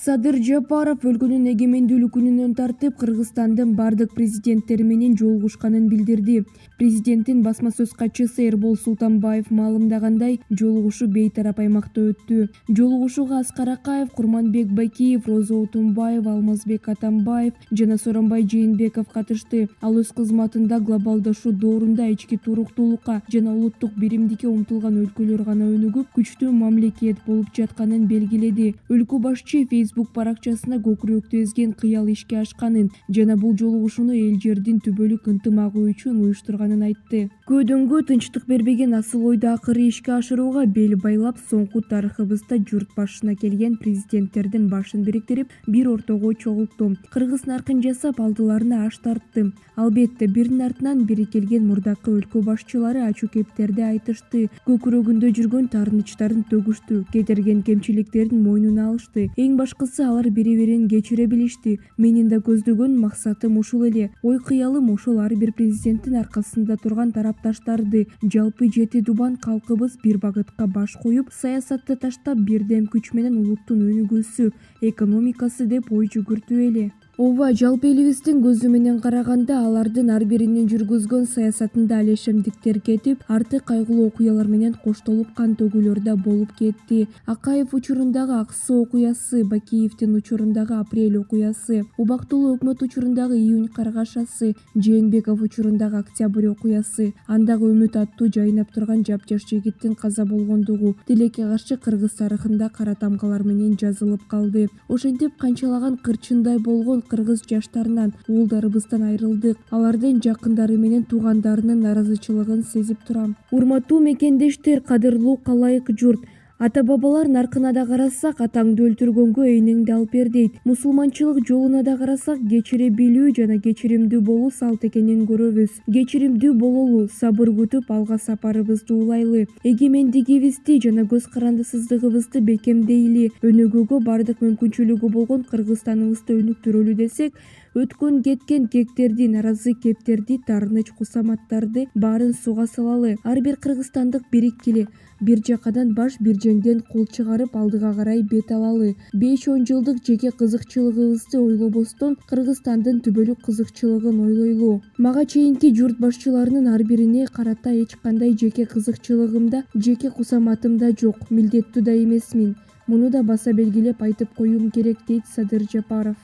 Садыр Жапаров өлкөнүн эгемендүүлүк күнүнөн тартып Кыргызстандын бардык президенттери менен жолугушканын билдирди. Президенттин басма сөз катчысы Эрбол Султанбаев маалымдагандай, жолугушуу бейтарап аймакта өттү. Жолугушууга Аскар Акаев, Курманбек Бакиев, Роза Отунбаева, Алмазбек Атамбаев жана Сооронбай Жээнбеков катышты. Ал өз кызматында глобалдашуу доорунда ички туруктуулукка жана улуттук биримдикке умтулган өлкөлөр гана өнүгүп, күчтүү мамлекет болуп жатканын белгиледи. Өлкө башчы Facebook баракчасына көкүрөктү эзген кыял ишке ашканын жана бул жолугушууну эл жердин түбөлүк ынтымагы үчүн уюштурганын айтты. Көөдөнгө тынчтык бербеген асыл ойду акыры ишке ашырууга бел байлап, соңку тарыхыбызда журт башына келген президенттердин башын бириктирип, бир ортого чогултту. Кыргыз наркын жасап, алдыларына аш тартты. Албетте, биринин артынан бири келген мурдакы өлкө башчылары ачуу кептерди айтышты, көкүрөгүндө жүргөн таарынычтарын төгүштү, кетирген кемчиликтерин мойнуна алышты. Эң башкысы, алар бири-бирин кечире билишти. Менин да көздөгөн максатым ушул эле. Ой кыялым ошол ар бир президенттин аркасында турган тарапташтарды, жалпы жети дубан калкыбыз бир багытка баш коюп, саясатты таштап, бирдем күч менен улуттун өнүгүүсү, экономикасы деп ой жүгүртүү эле. Ооба, жалпы элибиздин көзү менен караганда, алардын ар биринин жүргүзгөн саясатында алешемдиктер кетип, арты кайгылуу окуялар менен коштолуп, кан төгүүлөр да болуп кетти. Акаев учурундагы Ак Суу окуясы, Бакиевдин учурундагы Апрель окуясы, Убактылуу өкмөт учурундагы Июнь каргашасы, Жээнбеков учурундагы Октябрь окуясы, андагы Үмүт аттуу жайнап турган жапжаш жигиттин каза болгондугу тилекке каршы кыргыз тарыхында кара тамгалар менен жазылып калды. Ошентип канчалаган кырчындай болгон кыргыз жаштарынан, уулдарыбыздан айрылдык. Алардын жакындары менен туугандарынын наразычылыгын сезип турам. Урматтуу мекендештер, кадырлуу калайык журт, ата-бабалар наркына да карасак, атаңды өлтүргөнгө эйнеңди алып бер дейт. Мусулманчылык жолуна да карасак, кечире билүү жана кечиримдүү болуу салт экенин көрөбүз. Кечиримдүү бололу, сабыр күтүп, алга сапарыбызды улайлы, эгемендигибизди жана көз карандысыздыгыбызды бекемдейли, өнүгүүгө бардык мүмкүнчүлүгү болгон Кыргызстаныбызды өнүктүрөлү десек, өткөн кеткен кектерди, наразы кептерди, таарыныч кусаматтарды баарын сууга салалы. Ар бир кыргызстандык бириккиле, бир жакадан баш, бир жеңден кол чыгарып, алдыга карай бет алалы. 5-10 жылдык жеке кызыкчылыгыбызды ойлобостон, Кыргызстандын түбөлүк кызыкчылыгын ойлойлу. Мага чейинки журт башчыларынын ар бирине карата эч кандай жеке кызыкчылыгым да, жеке кусаматым да жок, милдеттүү да эмесмин. Муну да баса белгилеп айтып коюум керек, дейт Садыр Жапаров.